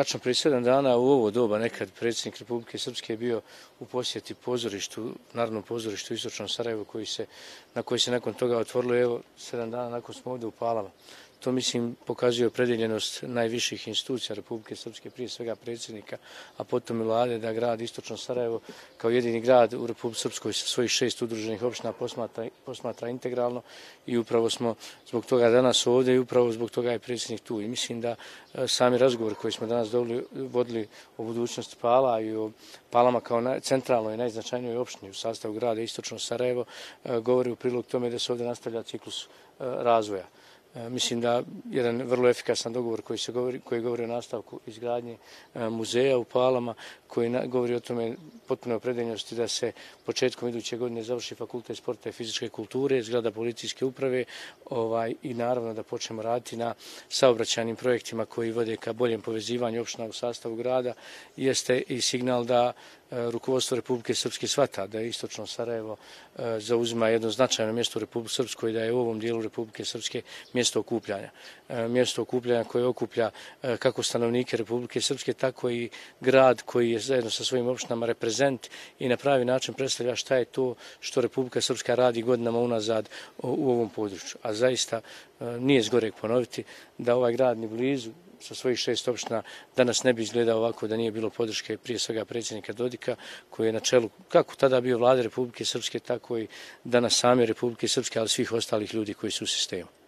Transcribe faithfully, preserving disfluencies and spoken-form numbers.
tačno prije sedam dana u ovo doba nekad predsjednik Republike Srpske je bio u posjeti pozorištu, Narodnom pozorištu u Istočnom Sarajevu koji se, na koji se nakon toga otvorilo, evo sedam dana nakon smo ovdje u Palama. To, mislim, pokazuje opredjeljenost najviših institucija Republike Srpske, prije svega predsjednika, a potom i vlade, da grad Istočno Sarajevo kao jedini grad u Republici Srpskoj sa svojih šest udruženih opština posmatra, posmatra integralno i upravo smo zbog toga danas ovdje i upravo zbog toga je predsjednik tu. I mislim da sami razgovor koji smo danas vodili o budućnosti Pala i o Palama kao centralnoj i najznačajnijoj opštini u sastavu grada Istočno Sarajevo govori u prilog tome da se ovdje nastavlja ciklus razvoja. Mislim da jedan vrlo efikasan dogovor koji, se govori, koji govori o nastavku izgradnje muzeja u Palama, koji govori o tome potpuno opredeljenosti da se početkom iduće godine završi fakultet sporta i fizičke kulture, zgrada policijske uprave ovaj, i naravno da počnemo raditi na saobraćajnim projektima koji vode ka boljem povezivanju opština u sastavu grada, jeste i signal da rukovodstvo Republike Srpske shvata da je Istočno Sarajevo zauzima jedno značajno mjesto u Republike Srpskoj, da je u ovom dijelu Republike Srpske mjesto okupljanja. Mjesto okupljanja koje okuplja kako stanovnike Republike Srpske, tako i grad koji je zajedno sa svojim opštinama reprezent i na pravi način predstavlja šta je to što Republika Srpska radi godinama unazad u ovom području. A zaista nije zgoreg ponoviti da ovaj grad ni blizu sa svojih šest opština danas ne bi izgledao ovako da nije bilo podrške prije svega predsjednika Dodika koji je na čelu kako tada bio vlade Republike Srpske, tako i danas same Republike Srpske, ali svih ostalih ljudi koji su u sistemu.